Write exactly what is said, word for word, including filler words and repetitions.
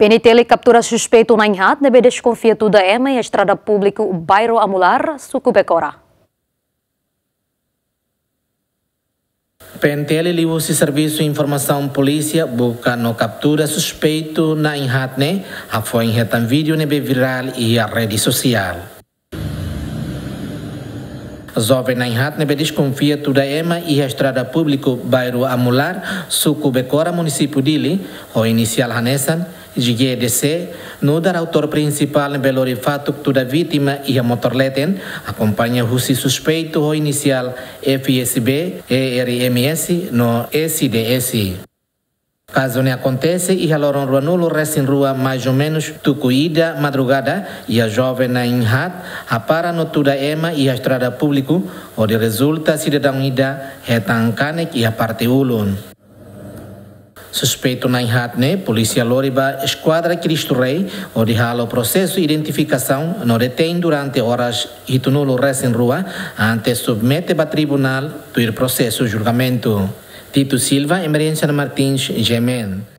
P N T L kaptura suspeitu na'in-haat ne'ebé deskonfia tuda ema iha estrada públiku Bairru Amular, suku Becora. P N T L liuhusi servisu informasaun polísia buka no kaptura suspeitu na'in-haat ne'e, hafoin hetan vídeo ne'ebé virál iha rede sosiál. Joven na'in-haat ne'ebé deskonfia tuda ema iha estrada públiku Bairru Amular, suku Becora, munisípiu Dili, ho inisiál hanesan G D C, nu'udar autór prinsipál ne'ebé lori fatuk tuda vítima iha motór leten, akompaña husi suspeitu ho inisiál F S B, E R M S no S D S. Kazu ne'e akontese iha loron ruanulu-resin-rua, mais ou menus tuku ida madrugada, iha joven na'in-haat hapara no tuda ema iha estrada públiku, hodi rezulta sidadaun ida hetan kanek iha parte ulun. Suspeitu na'in-haat ne'e polísia lori ba Eskuadra Cristo Rei, hodi halo prosesu identifikasaun no detein durante oras hitunulu-resin-rua, antes submete ba tribunál tuir prosesu julgamentu. Tito Silva, Emerenciana Martins, G M N.